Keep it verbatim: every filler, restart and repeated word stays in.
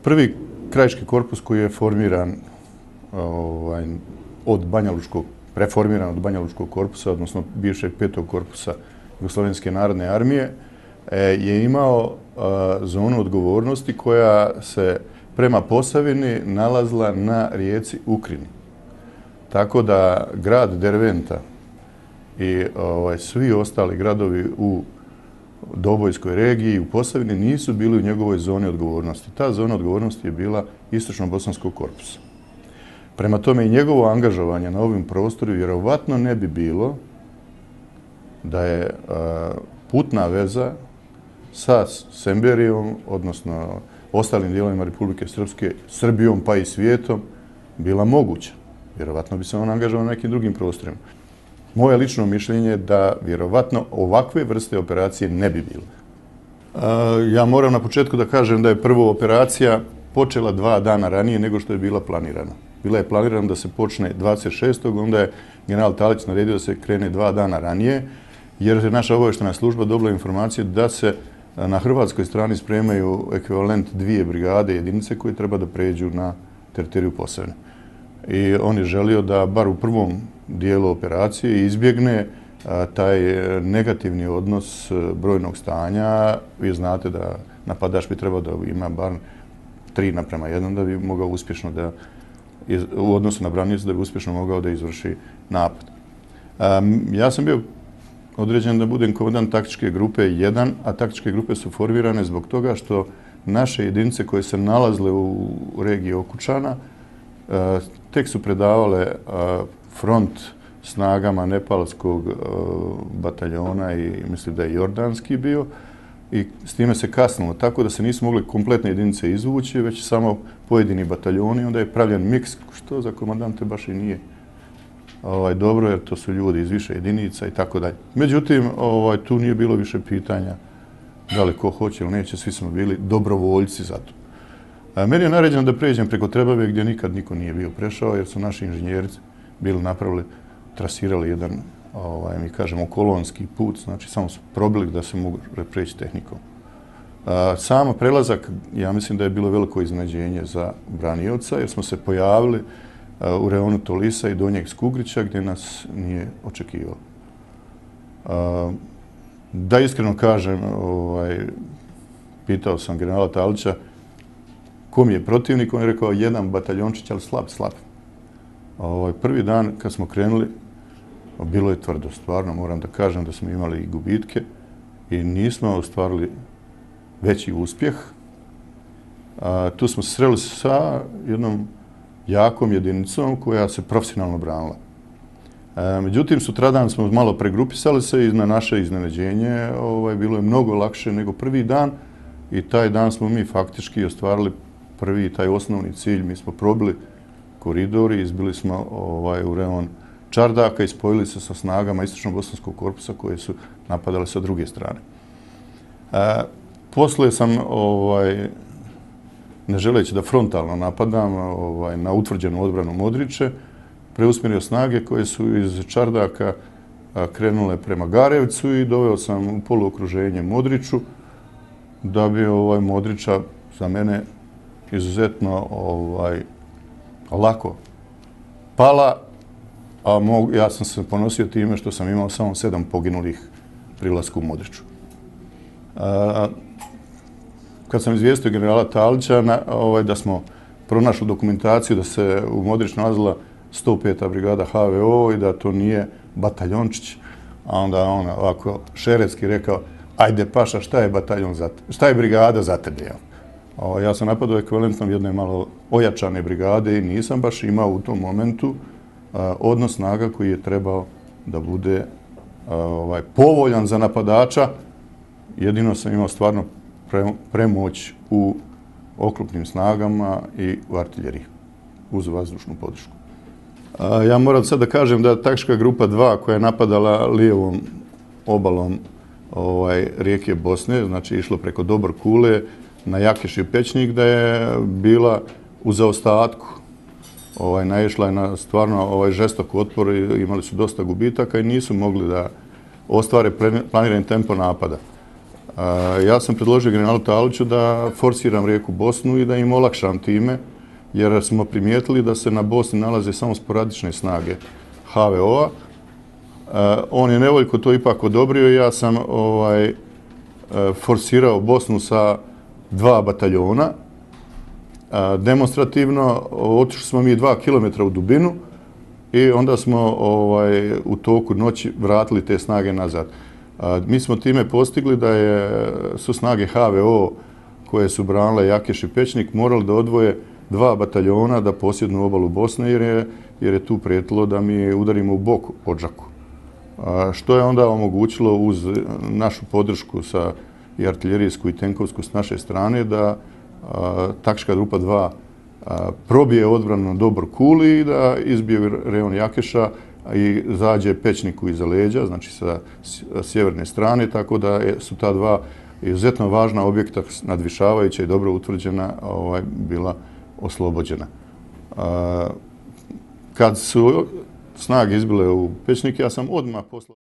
prvi krajiški korpus koji je formiran ovaj, od Banjalučkog, preformiran od Banjalučkog korpusa, odnosno bivšeg petog korpusa Jugoslovenske narodne armije, je imao zonu odgovornosti koja se prema Posavini nalazila na rijeci Ukrini. Tako da grad Derventa i ovaj, svi ostali gradovi u Dobojskoj regiji i u Posavini nisu bili u njegovoj zoni odgovornosti. Ta zona odgovornosti je bila Istočno-Bosanskog korpusa. Prema tome i njegovo angažovanje na ovim prostoru vjerovatno ne bi bilo da je a, putna veza sa Semberijom, odnosno ostalim dijelovima Republike Srpske, Srbijom pa i svijetom, bila moguća. Vjerovatno bi se on angažovao na nekim drugim prostorima. Moje lično mišljenje je da vjerovatno ovakve vrste operacije ne bi bilo. Ja moram na početku da kažem da je prvo operacija počela dva dana ranije nego što je bila planirana. Bila je planirana da se počne dvadeset šestog onda je general Talić naredio da se krene dva dana ranije, jer je naša obavještajna služba dobila informacije da se na hrvatskoj strani spremaju ekvivalent dvije brigade jedinice koje treba da pređu na teritoriju Posavine. I on je želio da bar u prvom dijelu operacije izbjegne a, taj negativni odnos brojnog stanja. Vi znate da napadač bi trebao da ima bar tri naprema jedan da bi mogao uspješno da, iz, u odnosu na branioca da bi uspješno mogao da izvrši napad. A, ja sam bio određen da budem komandant taktičke grupe jedan, a taktičke grupe su formirane zbog toga što naše jedinice koje se nalazile u regiji Okučana a, tek su predavale a, front snagama nepalskog uh, bataljona i mislim da je jordanski bio i s time se kasnilo, tako da se nisu mogli kompletne jedinice izvući, već samo pojedini bataljoni, onda je pravljen miks, što za komandante baš i nije ovaj, dobro, jer to su ljudi iz više jedinica i tako dalje. Međutim, ovaj, tu nije bilo više pitanja da li ko hoće ili neće, svi smo bili dobrovoljci za to. A meni je naređeno da pređem preko Trebave gdje nikad niko nije bio prešao, jer su naši inženjeri bili napravili, trasirali jedan, ovaj, mi kažemo, kolonski put, znači samo su probili da se mogu preći tehnikom. A, samo prelazak, ja mislim da je bilo veliko iznenađenje za branioca, jer smo se pojavili a, u reonu Tolisa i Donjeg Skugrića, gdje nas nije očekivao. A, da iskreno kažem, ovaj, pitao sam generala Talića ko mi je protivnik, on je rekao jedan bataljončić, ali slab, slab. Ovaj, prvi dan kad smo krenuli, bilo je tvrdo, stvarno moram da kažem da smo imali i gubitke i nismo ostvarili veći uspjeh. A, tu smo se sreli sa jednom jakom jedinicom koja se profesionalno branila. A, međutim, sutradan smo malo pregrupisali se i na naše iznenađenje ovaj, bilo je mnogo lakše nego prvi dan i taj dan smo mi faktički ostvarili prvi taj osnovni cilj. Mi smo probili koridori, izbili smo ovaj, u reon Čardaka i spojili se sa snagama Istočno-Bosanskog korpusa koje su napadale sa druge strane. E, posle sam, ovaj, ne želeći da frontalno napadam ovaj, na utvrđenu odbranu Modriče, preusmjerio snage koje su iz Čardaka a, krenule prema Garevcu i doveo sam u poluokruženje Modriču, da bi ovaj, Modriča za mene izuzetno ovaj, lako pala, a mog, ja sam se ponosio time što sam imao samo sedam poginulih pri ulasku u Modriču. A, kad sam izvijestio generala Talića na, ovaj, da smo pronašli dokumentaciju da se u Modriču nalazila sto peta brigada H V O i da to nije bataljončić, a onda on ovako šeretski rekao, ajde paša, šta je bataljon za te, šta je brigada za tebe? Ja? O, ja sam napadao ekvivalentnom jedne malo ojačane brigade i nisam baš imao u tom momentu a, odnos snaga koji je trebao da bude a, ovaj, povoljan za napadača. Jedino sam imao stvarno pre, premoć u oklopnim snagama i u artiljeriji uz vazdušnu podršku. A, ja moram sad da kažem da taktička grupa dva koja je napadala lijevom obalom ovaj, rijeke Bosne, znači išlo preko Dobor Kule, na Jakeš i Pećnik, da je bila u zaostatku. Ovaj, naišla je na stvarno ovaj, žestok otpor i imali su dosta gubitaka i nisu mogli da ostvare planirani tempo napada. Ja sam predložio generalu Taliću da forsiram rijeku Bosnu i da im olakšam time, jer smo primijetili da se na Bosni nalaze samo sporadične snage H V O-a. On je nevoljko to ipak odobrio i ja sam ovaj, forsirao Bosnu sa dva bataljona. Demonstrativno otišli smo mi dva kilometra u dubinu i onda smo ovaj, u toku noći vratili te snage nazad. Mi smo time postigli da je, su snage H V O koje su branile Jakeš i Pečnik morali da odvoje dva bataljona da posjednu obalu Bosne jer je, jer je tu prijetilo da mi udarimo u bok Odžaku. Što je onda omogućilo uz našu podršku sa i artiljerijsku i tenkovsku s naše strane da a, taktička grupa dva a, probije odbranu do Borkuli i da izbije rejon Jakeša i zađe Pečniku iza leđa, znači sa sjeverne strane, tako da su ta dva izuzetno važna objekta nadvišavajuća i dobro utvrđena ovaj, bila oslobođena. A, kad su snage izbile u Pečnik, ja sam odmah poslao